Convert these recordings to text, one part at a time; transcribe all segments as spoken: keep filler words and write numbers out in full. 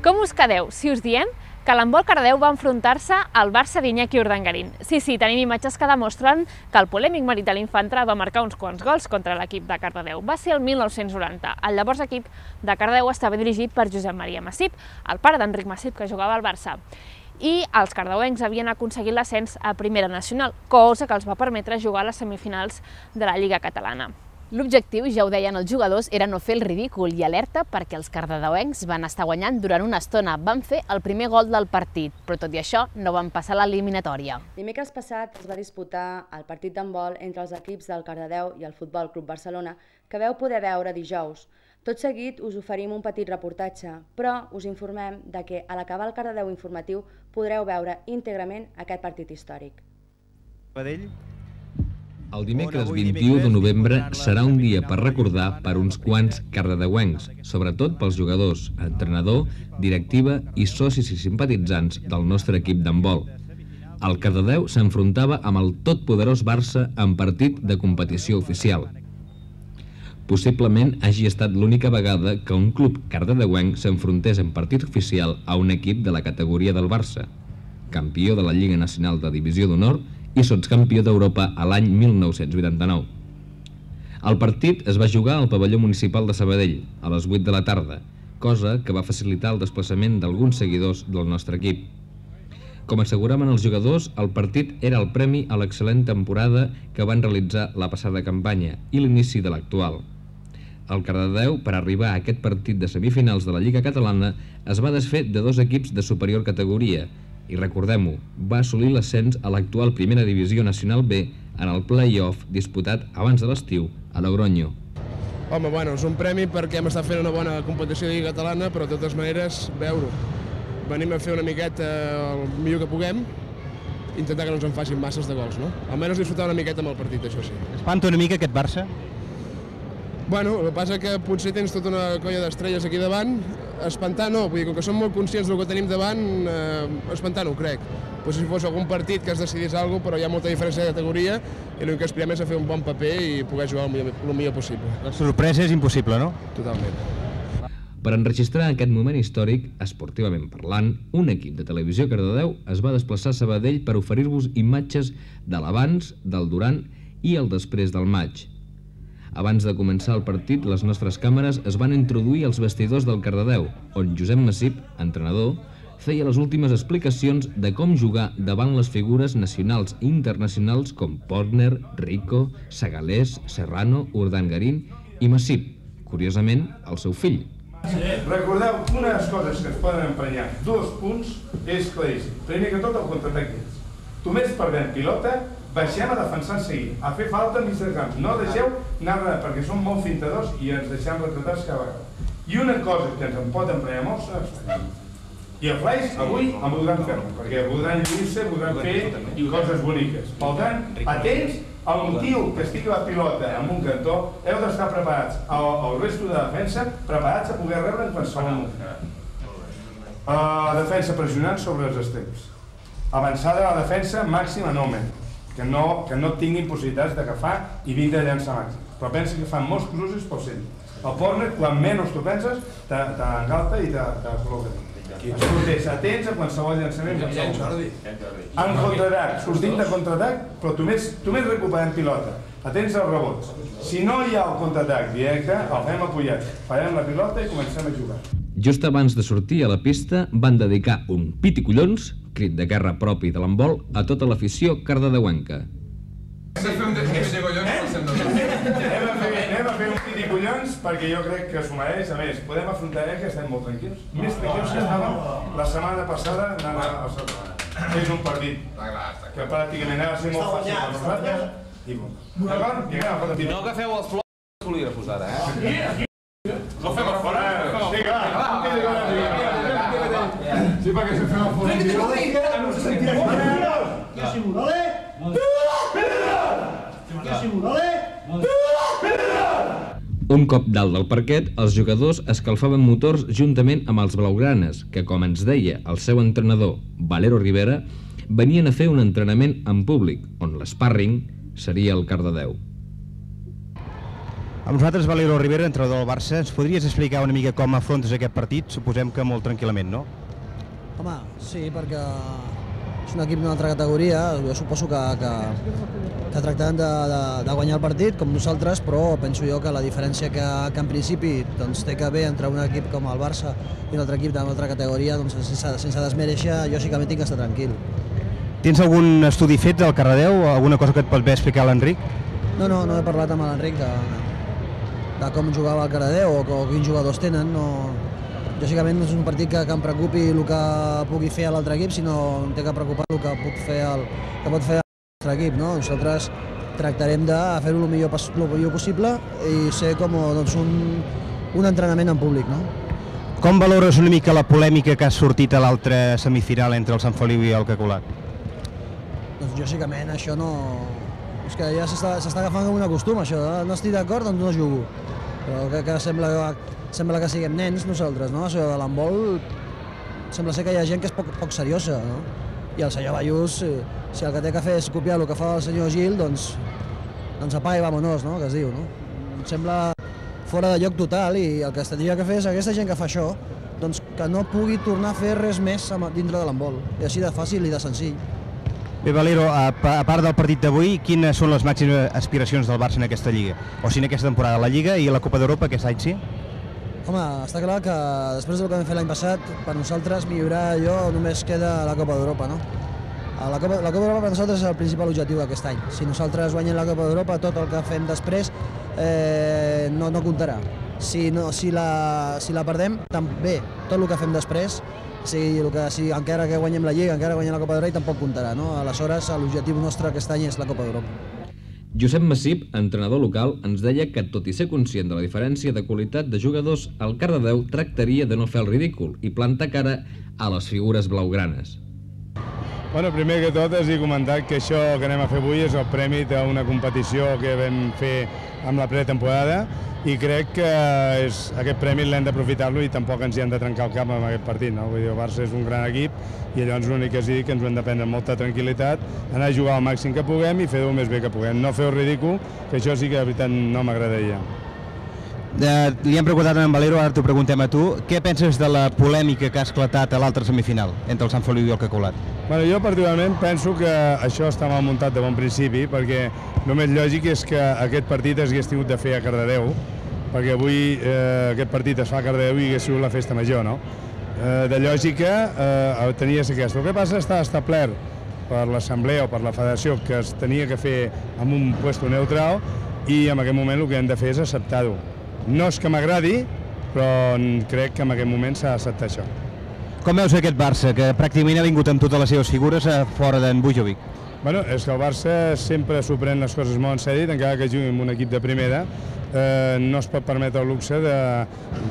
Com us quedeu si us diem que l'handbol Cardedeu va enfrontar-se al Barça d'Iñaki Urdangarín? Sí, sí, tenim imatges que demostren que el polèmic Marital Infantra va marcar uns quants gols contra l'equip de Cardedeu. Va ser el mil nou-cents noranta. El llavors equip de Cardedeu estava dirigit per Josep Maria Massip, el pare d'Enric Massip, que jugava al Barça. I els cardedeuencs havien aconseguit l'ascens a Primera Nacional, cosa que els va permetre jugar a les semifinals de la Lliga Catalana. L'objectiu, ja ho deien els jugadors, era no fer el ridícul i alerta perquè els cardedeuencs van estar guanyant durant una estona. Van fer el primer gol del partit, però tot i això no van passar l'eliminatòria. Dimecres passat es va disputar el partit d'handbol entre els equips del Cardedeu i el Futbol Club Barcelona, que vau poder veure dijous. Tot seguit us oferim un petit reportatge, però us informem de que a l'acabar el Cardedeu informatiu podreu veure íntegrament aquest partit històric. El dimecres vint-i-u de novembre serà un dia per recordar per uns quants cardedeuencs, sobretot pels jugadors, entrenador, directiva i socis i simpatitzants del nostre equip d'handbol. El Cardedeu s'enfrontava amb el totpoderós Barça en partit de competició oficial. Possiblement hagi estat l'única vegada que un club cardedeuenc s'enfrontés en partit oficial a un equip de la categoria del Barça, campió de la Lliga Nacional de Divisió d'Honor i sotscampió d'Europa a l'any mil nou-cents vuitanta-nou. El partit es va jugar al pavelló municipal de Sabadell a les vuit de la tarda, cosa que va facilitar el desplaçament d'alguns seguidors del nostre equip. Com asseguraven els jugadors, el partit era el premi a l'excel·lent temporada que van realitzar la passada campanya i l'inici de l'actual. El Cardedeu, per arribar a aquest partit de semifinals de la Lliga Catalana, es va desfer de dos equips de superior categoria i, recordem-ho, va assolir l'ascens a l'actual Primera Divisió Nacional B en el play-off disputat abans de l'estiu a Logroño. Home, bueno, és un premi perquè hem estat fent una bona competició de Lliga Catalana, però de totes maneres, veure-ho. Venim a fer una miqueta el millor que puguem, intentar que no ens en facin masses de gols, no? Almenys disfrutar una miqueta amb el partit, això sí. Espanta una mica aquest Barça? Bueno, el que passa que potser tens tota una colla d'estrelles aquí davant, espantar no, vull dir, com que som molt conscients del que tenim davant, eh, espantar no ho crec. Potser si fos algun partit que es decidís alguna cosa, però hi ha molta diferència de categoria i l'únic que aspirem és a fer un bon paper i poder jugar el millor, el millor possible. La sorpresa és impossible, no? Totalment. Per enregistrar aquest moment històric, esportivament parlant, un equip de Televisió Cardedeu es va desplaçar a Sabadell per oferir-vos imatges de l'abans, del durant i el després del maig. Abans de començar el partit, les nostres càmeres es van introduir als vestidors del Cardedeu, on Josep Massip, entrenador, feia les últimes explicacions de com jugar davant les figures nacionals i internacionals com Portner, Rico, Segalés, Serrano, Urdangarín i Massip, curiosament, el seu fill. Recordeu unes coses que es poden emprenyar. Dos punts és claríssim. Primer que tot el contraatac d'ells. Només perdem pilota, baixem a defensar seguir, a fer falta enmig del camp. No deixeu anar, perquè som molt fintadors i ens deixem retratats cada vegada. I una cosa que ens en pot emprenyar molt són els flaix. I el flaix avui en voldran fer, perquè voldran lluir-se, voldran fer coses boniques. Per tant, atents al motiu que estigui la pilota en un cantó, heu d'estar preparats, el resto de defensa, preparats a poder rebre en qualsevol moment. La defensa pressionant sobre els extrems. Avançada la defensa màxima en home, que no, que no tinguin possibilitats d'agafar i vindre a llançar màxim. Però pensa que fan molts cruces pel centre. El Portner, quan menys tu penses, t'engalta i te col·loca. Escoltés, atents a qualsevol llançament. En contraatac, sortim de contraatac, però només recuperem pilota. Atents als rebots. Si no hi ha el contraatac directe, el fem apujat. Farem la pilota i comencem a jugar. Just abans de sortir a la pista, van dedicar un pit i collons, crit de guerra propi de l'handbol, a tota l'afició cardedeuenca. Anem a fer un pit i collons perquè jo crec que s'ho mereix. A més, podem afrontar que estem molt tranquils. Més tranquils que estàvem la setmana passada anant al Salvador. És un partit que pràcticament ha de ser molt fàcil per nosaltres. D'acord? No agafeu els flors dels bolígrafos ara, eh? No fem a fora. Sí, clar. Sí, perquè si fem a fora... No se sentirà fora. Que si morale? Que si morale? Un cop dalt del parquet, els jugadors escalfaven motors juntament amb els blaugranes, que, com ens deia el seu entrenador, Valero Rivera, venien a fer un entrenament en públic, on l'sparring seria el Cardedeu. Amb nosaltres, Valero Rivera, entrenador del Barça, ens podries explicar una mica com afrontes aquest partit? Suposem que molt tranquil·lament, no? Home, sí, perquè és un equip d'una altra categoria, jo suposo que, que, que tractaran de, de, de guanyar el partit, com nosaltres, però penso jo que la diferència que, que en principi doncs, té que haver entre un equip com el Barça i un altre equip d'una altra categoria, doncs, sense, sense desmereixer, jo sí que m'he tinc que estar tranquil. Tens algun estudi fet del Cardedeu? Alguna cosa que et pot bé explicar l'Enric? No, no, no he parlat amb l'Enric de, de com jugava el Cardedeu o, o quins jugadors tenen. No, lògicament no és un partit que, que em preocupi el que pugui fer l'altre equip, sinó em té que preocupar el que, puc fer el, que pot fer el nostre equip. No? Nosaltres tractarem de fer-ho el millor, el millor possible i ser com doncs, un, un entrenament en públic. No? Com valores una mica la polèmica que ha sortit a l'altra semifinal entre el Sant Feliu i el Cacolat? Doncs lògicament això no... És que ja s'està agafant com un costum, això. No estic d'acord, doncs no jugo. Però crec que sembla, sembla que siguem nens nosaltres, no? Això de l'handbol sembla ser que hi ha gent que és poc, poc seriosa, no? I el senyor Ballús, si el que té que fer és copiar el que fa el senyor Gil, doncs, doncs apaga i vámonos, no? Que es diu, no? Em sembla fora de lloc total i el que es tindria que fer és aquesta gent que fa això, doncs que no pugui tornar a fer res més dintre de l'handbol. I així de fàcil i de senzill. Bé, Valero, a part del partit d'avui, quines són les màximes aspiracions del Barça en aquesta Lliga? O sigui, en aquesta temporada, la Lliga i la Copa d'Europa aquest any, sí? Home, està clar que després del que vam fer l'any passat, per nosaltres millorar allò només queda la Copa d'Europa, no? La Copa, la Copa d'Europa per nosaltres és el principal objectiu d'aquest any. Si nosaltres guanyem la Copa d'Europa, tot el que fem després eh, no, no comptarà. Si, no, si, la, si la perdem, també, tot el que fem després, si, el que, si encara que guanyem la Lliga, encara que guanyem la Copa d'Europa, tampoc comptarà. No? Aleshores, l'objectiu nostre aquest any és la Copa d'Europa. Josep Massip, entrenador local, ens deia que, tot i ser conscient de la diferència de qualitat de jugadors, el Cardedeu tractaria de no fer el ridícul i plantar cara a les figures blaugranes. Bueno, primer que tot és dir comentar que això que anem a fer avui és el premi d'una competició que vam fer amb la pretemporada i crec que és, aquest premi l'hem d'aprofitar-lo i tampoc ens hi hem de trencar el cap amb aquest partit. No? Vull dir, el Barça és un gran equip i llavors l'únic que és dir que ens ho hem de prendre amb molta tranquil·litat, anar a jugar al màxim que puguem i fer-ho el més bé que puguem. No fer el ridícul, que això sí que de veritat no m'agradaria. Eh, li hem preguntat a en Valero, ara t'ho preguntem a tu. Què penses de la polèmica que ha esclatat a l'altra semifinal entre el Sant Feliu i el Cacolat? Bueno, jo particularment penso que això està mal muntat de bon principi, perquè el més lògic és que aquest partit es hagués tingut de fer a Cardedeu, perquè avui eh, aquest partit es fa a Cardedeu i hagués sigut la festa major, no? Eh, de lògica eh, tenia que ser aquesta. El que passa està establert per l'assemblea o per la federació que es tenia que fer en un puesto neutral i en aquest moment el que hem de fer és acceptar-ho. No és que m'agradi, però crec que en aquest moment s'ha d'acceptar això. Com veus aquest Barça, que pràcticament ha vingut amb totes les seves figures a fora d'en Bujovic? Bueno, és que el Barça sempre s'ho pren les coses molt en sèrio, encara que jugui amb un equip de primera, eh, no es pot permetre el luxe de,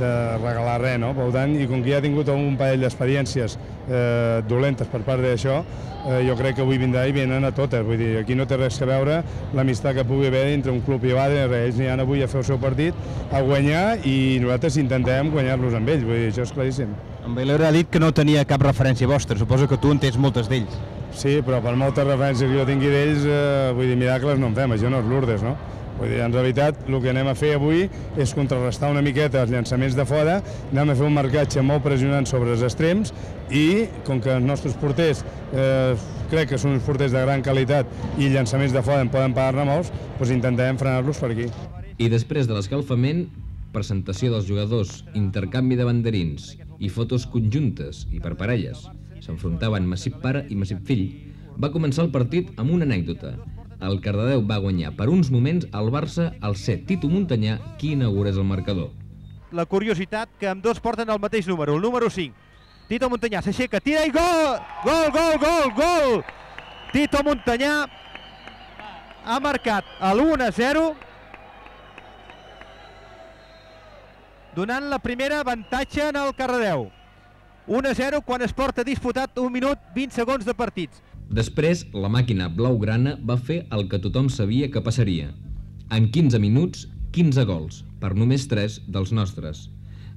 de regalar res, no? Per tant, i com que ja ha tingut un parell d'experiències eh, dolentes per part d'això, eh, jo crec que avui vindrà i venen a totes. Vull dir, aquí no té res a veure l'amistat que pugui haver entre un club i l'altre, ells aniran avui a fer el seu partit, a guanyar, i nosaltres intentem guanyar-los amb ells, vull dir, això és claríssim. En Valero ha dit que no tenia cap referència vostra, suposo que tu en tens moltes d'ells. Sí, però per moltes referències que jo tingui d'ells, eh, vull dir, miracles no en fem, això no és Lourdes, no? Vull dir, en realitat, el que anem a fer avui és contrarrestar una miqueta els llançaments de fora, anem a fer un marcatge molt pressionant sobre els extrems i, com que els nostres porters eh, crec que són uns porters de gran qualitat i llançaments de fora en poden pagar-ne molts, doncs intentarem frenar-los per aquí. I després de l'escalfament, presentació dels jugadors, intercanvi de banderins i fotos conjuntes i per parelles, s'enfrontaven Massip pare i Massip fill, va començar el partit amb una anècdota. El Cardedeu va guanyar per uns moments al Barça al ser Tito Montanyà qui inaugurés el marcador. La curiositat que amb dos porten el mateix número, el número cinc. Tito Montanyà s'aixeca, tira i gol! Gol, gol, gol, gol! Tito Montanyà ha marcat l'u a zero, donant la primera avantatge en el Cardedeu. u a zero quan es porta disputat un minut vint segons de partits. Després, la màquina blaugrana va fer el que tothom sabia que passaria. En quinze minuts, quinze gols, per només tres dels nostres.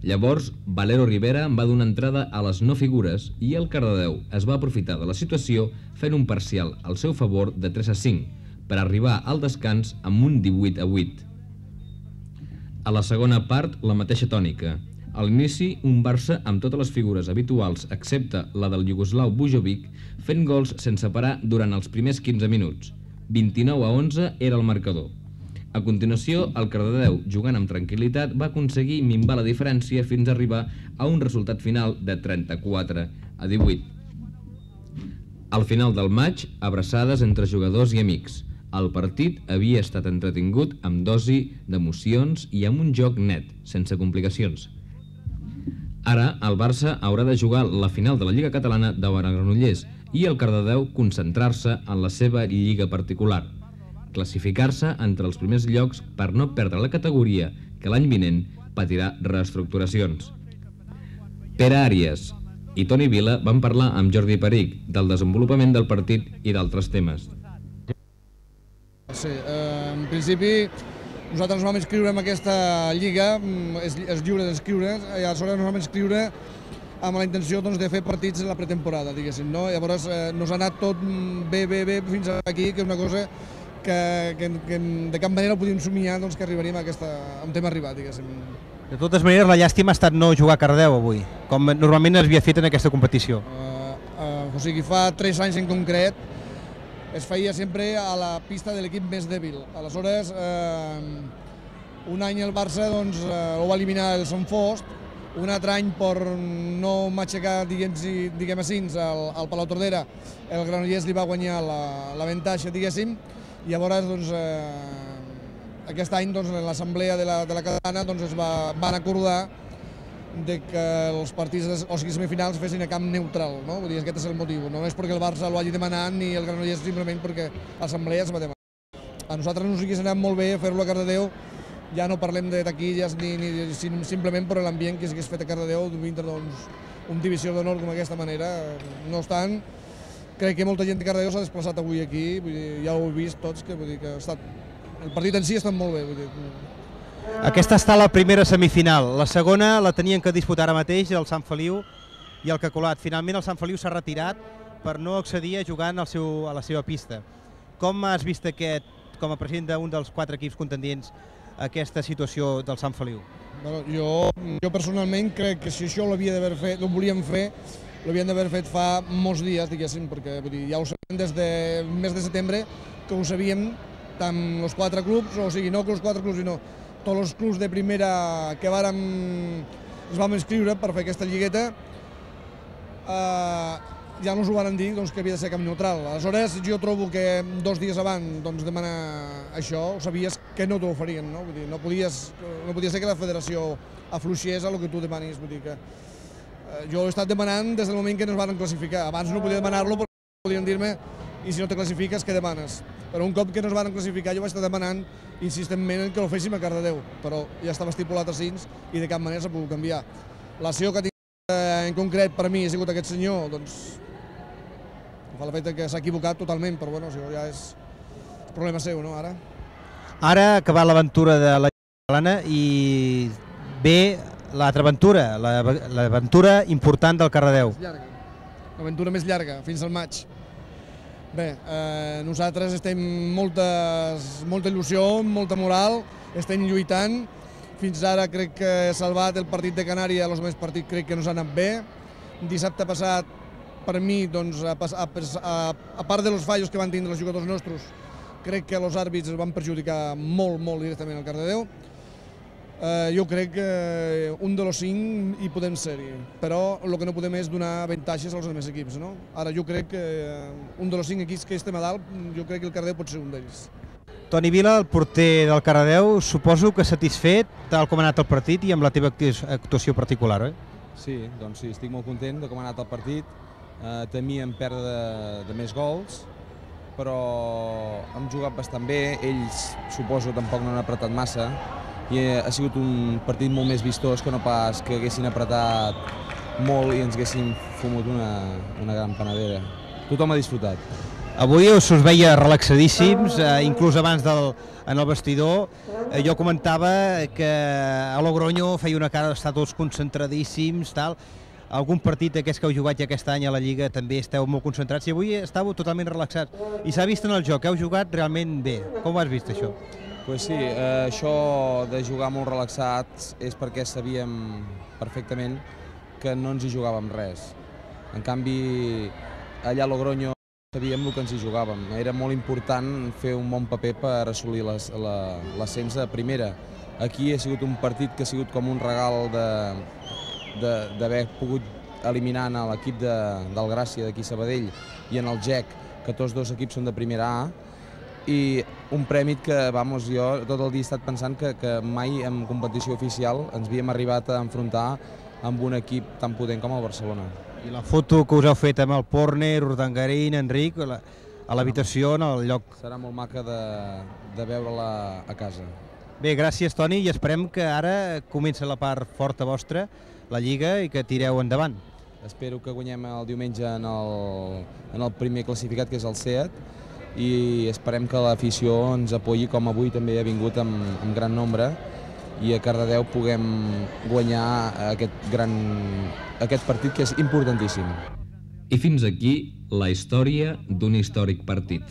Llavors, Valero Rivera va donar entrada a les no figures i el Cardedeu es va aprofitar de la situació fent un parcial al seu favor de tres a cinc per arribar al descans amb un divuit a vuit. A la segona part, la mateixa tònica. A l'inici, un Barça amb totes les figures habituals, excepte la del iugoslau Bujovic, fent gols sense parar durant els primers quinze minuts. vint-i-nou a onze era el marcador. A continuació, el Cardedeu, jugant amb tranquil·litat, va aconseguir minvar la diferència fins a arribar a un resultat final de trenta-quatre a divuit. Al final del maig, abraçades entre jugadors i amics. El partit havia estat entretingut amb dosi d'emocions i amb un joc net, sense complicacions. Ara, el Barça haurà de jugar la final de la Lliga Catalana davant el Granollers i el Cardedeu concentrar-se en la seva lliga particular, classificar-se entre els primers llocs per no perdre la categoria que l'any vinent patirà reestructuracions. Pere Àries i Toni Vila van parlar amb Jordi Peric del desenvolupament del partit i d'altres temes. Sí, eh, en principi nosaltres ens vam inscriure en aquesta lliga, és, és lliure d'inscriure, i aleshores ens vam inscriure amb la intenció doncs, de fer partits en la pretemporada, diguéssim, no? Llavors eh, nos ha anat tot bé, bé, bé fins aquí, que és una cosa que, que, que de cap manera ho podíem somiar doncs, que arribaríem a aquesta, on hem arribat, diguéssim. De totes maneres, la llàstima ha estat no jugar a Cardedeu avui, com normalment es havia fet en aquesta competició. Uh, uh, o sigui, fa tres anys en concret es feia sempre a la pista de l'equip més dèbil. Aleshores, eh, un any el Barça doncs, eh, ho va eliminar el Sant Fost, un altre any per no m'aixecar, diguem, diguem així, al, al Palau Tordera, el Granollers li va guanyar l'avantatge, diguéssim, i llavors doncs, eh, aquest any doncs, en l'assemblea de la, de la Catalana doncs, es va, van acordar de que els partits, o sigui, semifinals fessin a camp neutral, no? Vull dir, aquest és el motiu, no és perquè el Barça l'ho hagi demanat ni el Granollers, simplement perquè l'assemblea es va demanar. A nosaltres ens hagués anat molt bé fer-lo a Cardedeu, ja no parlem de taquilles ni, ni simplement per l'ambient que s'hagués fet a Cardedeu dintre doncs, un divisió d'honor com aquesta manera. No obstant, crec que molta gent de Cardedeu s'ha desplaçat avui aquí, vull dir, ja ho heu vist tots, que, vull dir, que ha estat, el partit en si ha estat molt bé. Vull dir, aquesta està la primera semifinal, la segona la tenien que disputar ara mateix el Sant Feliu i el Cacolat. Finalment el Sant Feliu s'ha retirat per no accedir a jugar en el seu, a la seva pista. Com has vist aquest, com a president d'un dels quatre equips contendients, aquesta situació del Sant Feliu? Bueno, jo, jo personalment crec que si això l'havia d'haver fet, ho volíem fer, l'havien d'haver fet fa molts dies, diguéssim, perquè vull dir, ja ho sabem des del mes de setembre, que ho sabíem tant els quatre clubs, o sigui, no que els quatre clubs, sinó tots els clubs de primera que vàrem, ens vam inscriure per fer aquesta lligueta, eh, ja ens ho van dir doncs, que havia de ser camp neutral. Aleshores, jo trobo que dos dies abans doncs, demanar això, sabies que no t'ho oferien, no? Vull dir, no, podies, no podia ser que la federació afluixés a el que tu demanis. Vull dir que, eh, jo he estat demanant des del moment que ens van classificar. Abans no podia demanar-lo perquè podien dir-me i si no te classifiques, què demanes? Però un cop que ens van classificar jo vaig estar demanant insistentment que ho féssim a Cardedeu, però ja estava estipulat així i de cap manera s'ha pogut canviar. L'acció que tinc en concret per a mi ha sigut aquest senyor, doncs fa el fet que s'ha equivocat totalment, però bueno, això ja és problema seu, no, ara? Ara ha acabat l'aventura de la catalana i ve l'altra aventura, l'aventura important del Cardedeu. L'aventura més llarga, fins al maig. Bé, eh, nosaltres estem moltes, molta il·lusió, molta moral, estem lluitant. Fins ara crec que he salvat el partit de Canària, els meus partits crec que no s'ha anat bé. Dissabte passat, per mi, doncs, a, a, a part dels fallos que van tindre els jugadors nostres, crec que els àrbits van perjudicar molt, molt directament al Cardedeu. Eh, jo crec que un de los cinc hi podem ser-hi, però el que no podem és donar avantatges als altres equips, no? Ara jo crec que un de los cinc equips que estem a dalt, jo crec que el Cardedeu pot ser un d'ells. Toni Vila, el porter del Cardedeu, suposo que satisfet tal com ha anat el partit i amb la teva actuació particular, oi? Sí, doncs sí, estic molt content de com ha anat el partit. Eh, temíem perdre de, de més gols, però hem jugat bastant bé, ells suposo tampoc no han apretat massa, i ha sigut un partit molt més vistós que no pas que haguessin apretat molt i ens haguessin fumut una, una gran panadera. Tothom ha disfrutat. Avui us us veia relaxadíssims, eh, inclús abans del, en el vestidor. Eh, jo comentava que a Logroño feia una cara d'estar tots concentradíssims, tal. Algun partit d'aquests que heu jugat ja aquest any a la Lliga també esteu molt concentrats i avui estàveu totalment relaxats. I s'ha vist en el joc, heu jugat realment bé. Com ho has vist, això? Pues sí, eh, això de jugar molt relaxats és perquè sabíem perfectament que no ens hi jugàvem res. En canvi, allà a Logroño sabíem el que ens hi jugàvem. Era molt important fer un bon paper per assolir l'ascens a primera. Aquí ha sigut un partit que ha sigut com un regal d'haver pogut eliminar l'equip de, del Gràcia d'aquí Sabadell i en el G E C, que tots dos equips són de primera A, i un premi que, vamos, jo tot el dia he estat pensant que, que mai en competició oficial ens havíem arribat a enfrontar amb un equip tan potent com el Barcelona. I la foto que us heu fet amb el Porner, Urdangarín, Enric, a l'habitació, en el lloc... Serà molt maca de, de veure-la a casa. Bé, gràcies, Toni, i esperem que ara comença la part forta vostra, la Lliga, i que tireu endavant. Espero que guanyem el diumenge en el, en el primer classificat, que és el SEAT, i esperem que l'afició ens apoyi, com avui també ha vingut amb, amb gran nombre, i a Cardedeu puguem guanyar aquest, gran, aquest partit que és importantíssim. I fins aquí la història d'un històric partit.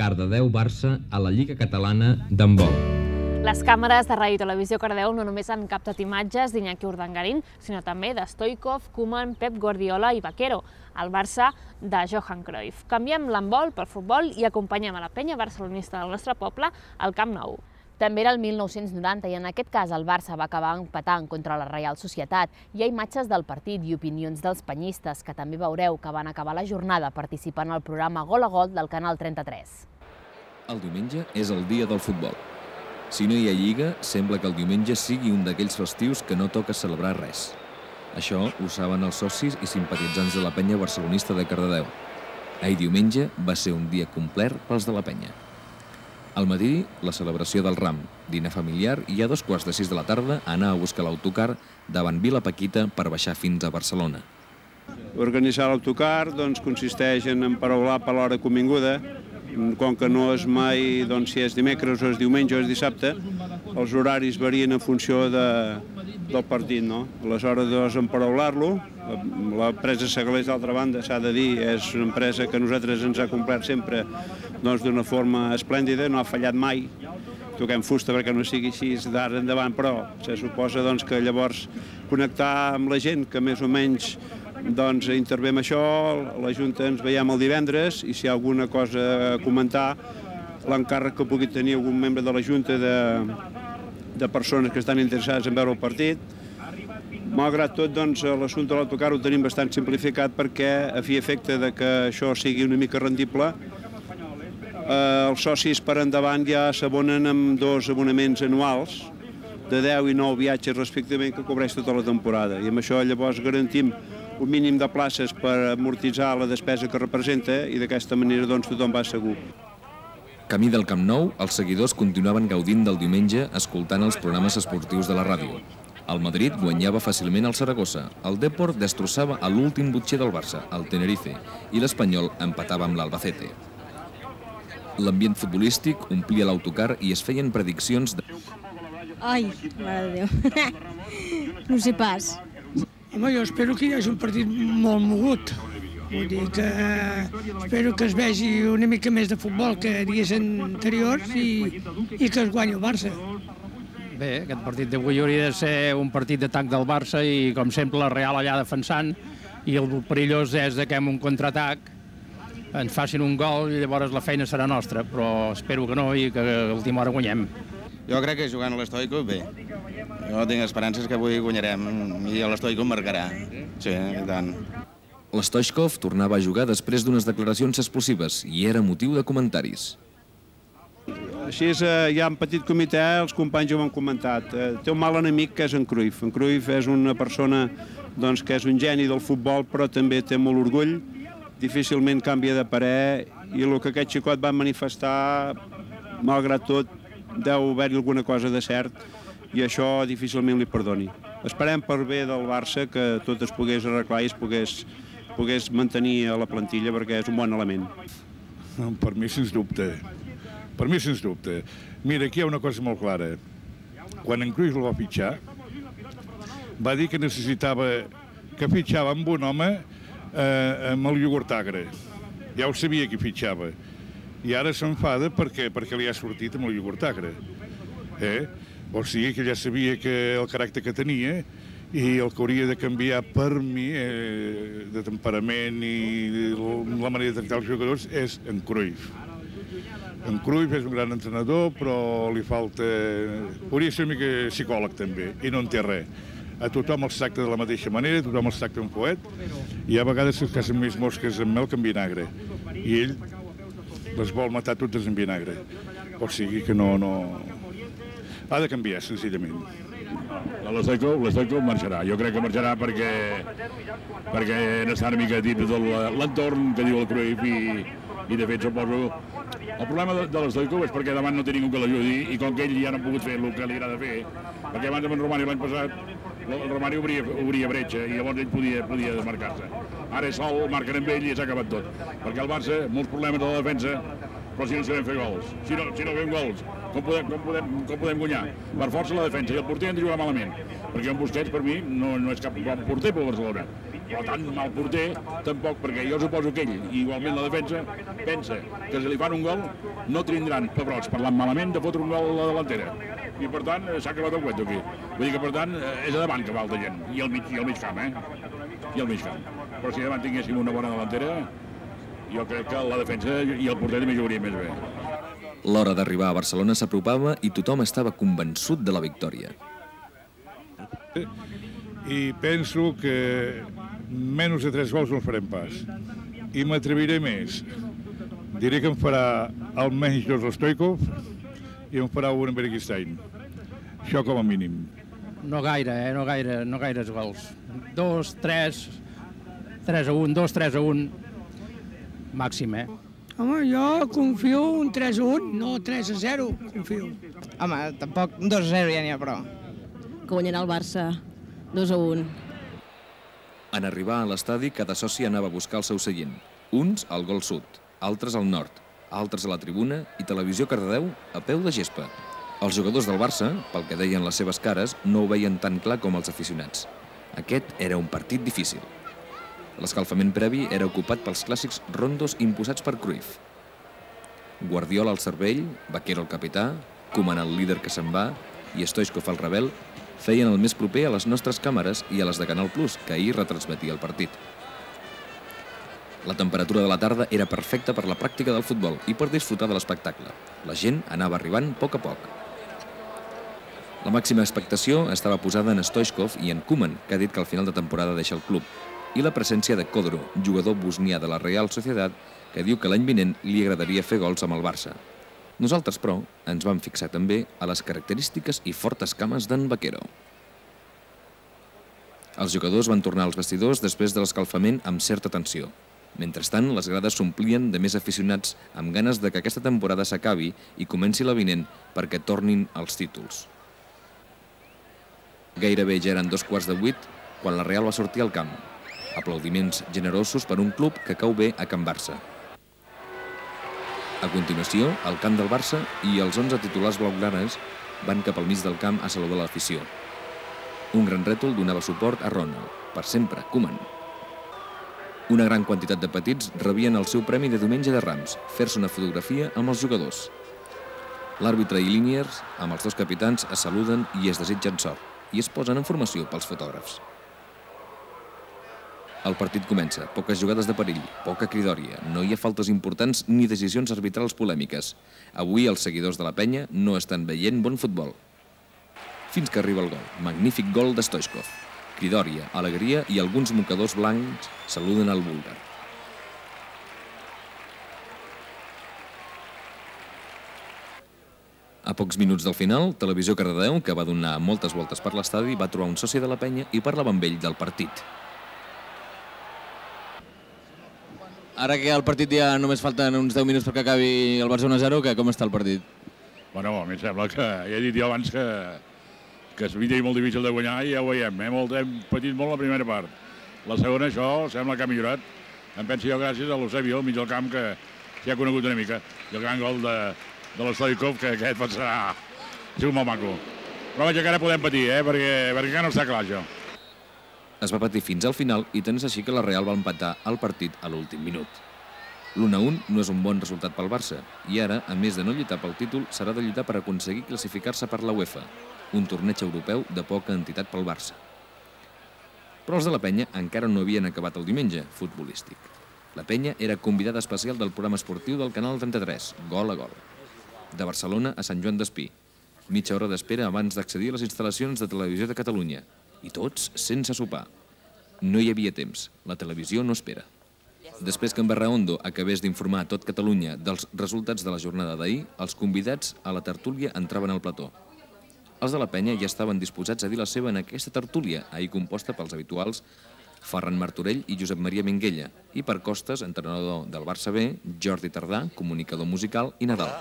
Cardedeu-Barça a la Lliga Catalana d'handbol. Les càmeres de Ràdio i Televisió Cardedeu no només han captat imatges d'Iñaki Urdangarín, sinó també de Stoichkov, Koeman, Pep Guardiola i Vaquero, el Barça de Johan Cruyff. Canviem l'handbol per futbol i acompanyem a la penya barcelonista del nostre poble al Camp Nou. També era el mil nou-cents noranta i en aquest cas el Barça va acabar empatant contra la Reial Societat. Hi ha imatges del partit i opinions dels penyistes que també veureu que van acabar la jornada participant al programa Gol a Gol del Canal trenta-tres. El diumenge és el dia del futbol. Si no hi ha Lliga, sembla que el diumenge sigui un d'aquells festius que no toca celebrar res. Això ho saben els socis i simpatitzants de la penya barcelonista de Cardedeu. Ahir diumenge va ser un dia complet pels de la penya. Al matí, la celebració del Ram, dinar familiar i a dos quarts de sis de la tarda anar a buscar l'autocar davant Vila Paquita per baixar fins a Barcelona. Organitzar l'autocar doncs, consisteix en emparaular per l'hora convinguda. Com que no és mai doncs, si és dimecres o és diumenge o és dissabte, els horaris varien en funció de, del partit. No? Aleshores, doncs, emparaular-lo. L'empresa Segalers, d'altra banda, s'ha de dir, és una empresa que a nosaltres ens ha complert sempre doncs, d'una forma esplèndida, no ha fallat mai. Toquem fusta perquè no sigui així d'ara endavant, però se suposa doncs, que llavors connectar amb la gent que més o menys doncs intervé amb això, la Junta ens veiem el divendres i si hi ha alguna cosa a comentar, l'encàrrec que pugui tenir algun membre de la Junta de, de persones que estan interessades en veure el partit. Malgrat tot, doncs, l'assumpte de l'autocar ho tenim bastant simplificat perquè, a fi i efecte de que això sigui una mica rendible, eh, els socis per endavant ja s'abonen amb dos abonaments anuals de deu i nou viatges respectivament que cobreix tota la temporada. I amb això llavors garantim un mínim de places per amortitzar la despesa que representa i d'aquesta manera doncs, tothom va segur. Camí del Camp Nou, els seguidors continuaven gaudint del diumenge escoltant els programes esportius de la ràdio. El Madrid guanyava fàcilment el Saragossa, el Depor destrossava a l'últim butxer del Barça, el Tenerife, i l'Espanyol empatava amb l'Albacete. L'ambient futbolístic omplia l'autocar i es feien prediccions de... Ai, mare de Déu, no sé pas. Home, jo espero que hi hagi un partit molt mogut. Vull dir que espero que es vegi una mica més de futbol que dies anteriors i, i que es guanyi el Barça. Bé, aquest partit d'avui hauria de ser un partit d'atac del Barça i, com sempre, la Real allà defensant i el perillós és que amb un contraatac ens facin un gol i llavors la feina serà nostra, però espero que no i que a l'última hora guanyem. Jo crec que jugant a l'Stoichkov, bé. Jo tinc esperances que avui guanyarem i l'Stoichkov marcarà. Sí, i tant. L'Stoichkov tornava a jugar després d'unes declaracions explosives i era motiu de comentaris. Així és, ja en petit comitè els companys ho han comentat. Té un mal enemic que és en Cruyff. En Cruyff és una persona doncs, que és un geni del futbol però també té molt orgull, difícilment canvia de parer i el que aquest xicot va manifestar, malgrat tot, deu haver-hi alguna cosa de cert i això difícilment li perdoni. Esperem per bé del Barça que tot es pogués arreglar i es pogués, pogués mantenir a la plantilla perquè és un bon element. Per mi, sens dubte. Per mi, sens dubte. Mira, aquí hi ha una cosa molt clara. Quan en Cruyff el va fitxar, va dir que necessitava, que fitxava amb un home eh, amb el iogurt agre. Ja ho sabia que fitxava. I ara s'enfada perquè, perquè li ha sortit amb el iogurt agre. O sigui que ja sabia que el caràcter que tenia i el que hauria de canviar per mi, de temperament i la manera de tractar els jugadors, és en Cruyff. En Cruyff és un gran entrenador, però li falta... Hauria de ser una mica psicòleg, també, i no en té res. A tothom els tracta de la mateixa manera, tothom els tracta un poet, i hi ha vegades que es casen més mosques amb mel que amb vinagre. I ell les vol matar totes amb vinagre. O sigui que no... Ha de canviar, senzillament. L'Stoico marxarà. Jo crec que marxarà perquè perquè n'està una mica dins de l'entorn que diu el Cruyff i de fet suposo... El problema de l'Stoico és perquè davant no té ningú que l'ajudi i com que ell ja no ha pogut fer el que li agrada fer, perquè abans amb en Romani l'any passat el Romani obria bretxa i llavors ell podia desmarcar-se. Ara és sol, marquen amb ell i s'ha acabat tot. Perquè el Barça, molts problemes de la defensa, però si no sabem fer gols. Si no fem gols, com podem guanyar? Per força la defensa i el porter han de jugar malament. Perquè en Busquets, per mi, no és cap bon porter per Barcelona. Però tant mal porter, tampoc, perquè jo suposo que ell, igualment la defensa, pensa que si li fan un gol no tindran pebrots parlant malament de fotre un gol a la delantera. I per tant s'ha acabat el cuento aquí. Vull dir que per tant és a davant que falta gent, i al mig camp, eh? I al mig camp. Però si davant tinguéssim una bona delantera, jo crec que la defensa i el porter també jugaria més bé. L'hora d'arribar a Barcelona s'apropava i tothom estava convençut de la victòria. I penso que menys de tres gols no farem pas. I m'atreviré més. Diré que em farà almenys dos l'Stoico i em farà un en Berechistein. Això com a mínim. No gaire, eh? No gaire, no gaires gols. Dos, tres, tres a un, dos, tres a un, màxim, eh? Home, jo confio un tres a un, no tres a zero, confio. Home, tampoc dos a zero ja n'hi ha prou. Que guanyarà el Barça, dos a un. En arribar a l'estadi, cada soci anava a buscar el seu seient. Uns al gol sud, altres al nord, altres a la tribuna i Televisió Cardedeu a peu de gespa. Els jugadors del Barça, pel que deien les seves cares, no ho veien tan clar com els aficionats. Aquest era un partit difícil. L'escalfament previ era ocupat pels clàssics rondos imposats per Cruyff. Guardiola al cervell, Vaquero el capità, Koeman el líder que se'n va i Stoichkov el rebel feien el més proper a les nostres càmeres i a les de Canal Plus, que ahir retransmetia el partit. La temperatura de la tarda era perfecta per la pràctica del futbol i per disfrutar de l'espectacle. La gent anava arribant a poc a poc. La màxima expectació estava posada en Stoichkov i en Koeman, que ha dit que al final de temporada deixa el club, i la presència de Kodro, jugador bosnià de la Real Sociedad, que diu que l'any vinent li agradaria fer gols amb el Barça. Nosaltres, però, ens vam fixar també a les característiques i fortes cames d'en Vaquero. Els jugadors van tornar als vestidors després de l'escalfament amb certa tensió. Mentrestant, les grades s'omplien de més aficionats amb ganes de que aquesta temporada s'acabi i comenci la vinent perquè tornin els títols. Gairebé ja eren dos quarts de vuit quan la Real va sortir al camp. Aplaudiments generosos per un club que cau bé a Can Barça. A continuació, el camp del Barça i els onze titulars blaugranes van cap al mig del camp a saludar l'afició. Un gran rètol donava suport a Ronald, per sempre, Koeman. Una gran quantitat de petits rebien el seu premi de diumenge de Rams, fer-se una fotografia amb els jugadors. L'àrbitre i Liniers, amb els dos capitans, es saluden i es desitgen sort, i es posen en formació pels fotògrafs. El partit comença, poques jugades de perill, poca cridòria, no hi ha faltes importants ni decisions arbitrals polèmiques. Avui els seguidors de la penya no estan veient bon futbol. Fins que arriba el gol, magnífic gol de Stoichkov. Cridòria, alegria i alguns mocadors blancs saluden el búlgar. A pocs minuts del final, Televisió Cardedeu, que va donar moltes voltes per l'estadi, va trobar un soci de la penya i parlava amb ell del partit. Ara que al partit ja només falten uns deu minuts perquè acabi el Barça un a zero, com està el partit? Bueno, a mi em sembla que, ja he dit jo abans que, que és molt difícil de guanyar i ja ho veiem, eh? Molt, hem patit molt la primera part. La segona, això, sembla que ha millorat. Em penso jo gràcies a l'Eusebio, al mig del camp, que s'hi ha conegut una mica. I el gran gol de, de l'Stoichkov, que aquest pot ser, ser un molt maco. Però vaja, que ara podem patir, eh? perquè, perquè encara no està clar, això. Es va patir fins al final i tant és així que la Real va empatar el partit a l'últim minut. L'un a un no és un bon resultat pel Barça i ara, a més de no lluitar pel títol, serà de lluitar per aconseguir classificar-se per la UEFA, un torneig europeu de poca entitat pel Barça. Però els de la Penya encara no havien acabat el diumenge futbolístic. La Penya era convidada especial del programa esportiu del Canal trenta-tres, Gol a Gol. De Barcelona a Sant Joan d'Espí. Mitja hora d'espera abans d'accedir a les instal·lacions de Televisió de Catalunya. I tots sense sopar. No hi havia temps. La televisió no espera. Després que en Barraondo acabés d'informar a tot Catalunya dels resultats de la jornada d'ahir, els convidats a la tertúlia entraven al plató. Els de la Penya ja estaven disposats a dir la seva en aquesta tertúlia, ahir composta pels habituals Ferran Martorell i Josep Maria Minguella, i per Costes, entrenador del Barça B, Jordi Tardà, comunicador musical, i Nadal.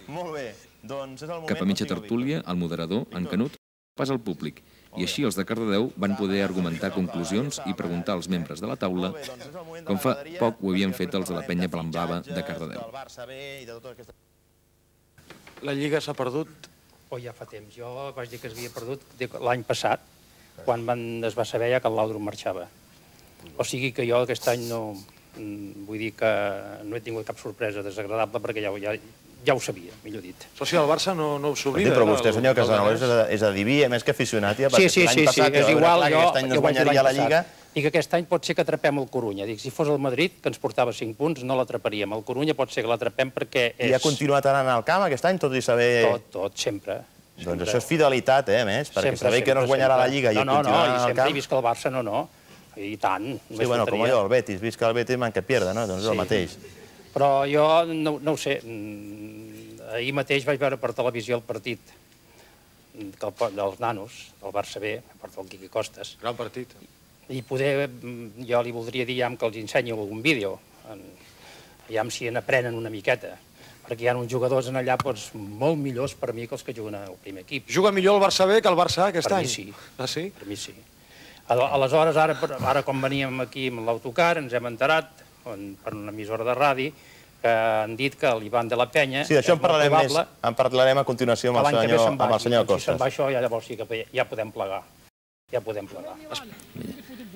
Molt bé, doncs és el moment... Cap a mitja tertúlia, el moderador, en Canut, pas al públic, i així els de Cardedeu van poder argumentar conclusions i preguntar als membres de la taula com fa poc ho havien fet els de la Penya Blanblava de Cardedeu. La Lliga s'ha perdut, o ja fa temps. Jo vaig dir que s'havia perdut l'any passat, quan es va saber ja que el Laudrup marxava. O sigui que jo aquest any no... Vull dir que no he tingut cap sorpresa desagradable perquè ja, ja, ja ho sabia, millor dit. Però si el Barça no, no ho s'oblida. Però vostè, senyor Casanova, és adiví, a més que aficionat, ja, sí, sí, l'any sí, passat sí, és igual, jo, aquest any no es guanyaria la Lliga. I que aquest any pot ser que atrapem el Corunya. Dic, si fos el Madrid, que ens portava cinc punts, no l'atraparíem. El Corunya pot ser que l'atrapem perquè és... I ha continuat anant al camp aquest any, tot i saber... Tot, tot, sempre. Doncs això és fidelitat, eh, a més, perquè saber que no es guanyarà la Lliga i continuar al camp... No, no, i sempre he vist que el Barça no, no. I tant. Sí, bueno, com allò, el Betis, vist que el Betis manca pierda, no? Doncs és el mateix. Però jo no ho sé. Ahir mateix vaig veure per televisió el partit dels nanos, del Barça B, a part del Quique Costas. Gran partit. I poder, jo li voldria dir que els ensenyo algun vídeo, ja si n'aprenen una miqueta, perquè hi ha uns jugadors en allà molt millors per mi que els que juguen al primer equip. Juga millor el Barça B que el Barça A aquest any? Per mi sí. Ah, sí? Per mi sí. Aleshores, ara com veníem aquí amb l'autocar, ens hem enterat, per una emissora de radi, que han dit que l'Ivan de la Penya... Sí, d'això en parlarem més, en parlarem a continuació amb el senyor Costas. Si se'n va això, llavors sí que ja podem plegar. Ja podem plegar.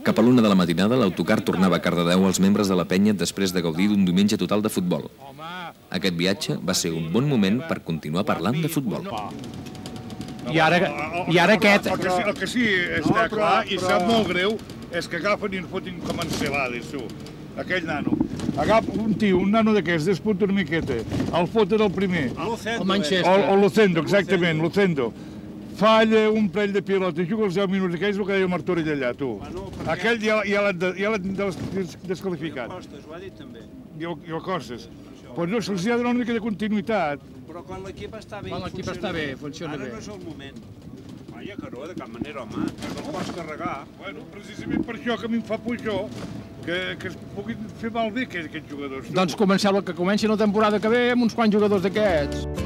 Cap a l'una de la matinada, l'autocar tornava a Cardedeu als membres de la Penya després de gaudir d'un diumenge total de futbol. Aquest viatge va ser un bon moment per continuar parlant de futbol. I ara, i ara aquest... El que, sí, el que sí està no, clar i sap molt greu és que agafen i ens fotin com encelades, tu. Aquell nano. Agafa un tio, un nano d'aquests, despunta una miqueta, el foten el primer. El Manchester. O Lucendo, exactament, Lucendo. Falla un parell de pilotes, juga els deu minuts aquells, el que deia Martorell allà, tu. Aquell ja, ja l'han desqualificat. El Costas, ho ha dit també. I el Costas. Doncs no, se'ls ha de donar una mica de continuïtat. Però quan l'equip està bé, quan l'equip està bé, funciona bé. Ara no és el moment. Vaja, que no, de cap manera, home, que no el pots carregar. Bueno, precisament per això que a mi em fa por això, que, que es puguin fer malbé aquests jugadors. Doncs comenceu, que comenci la temporada que ve amb uns quants jugadors d'aquests.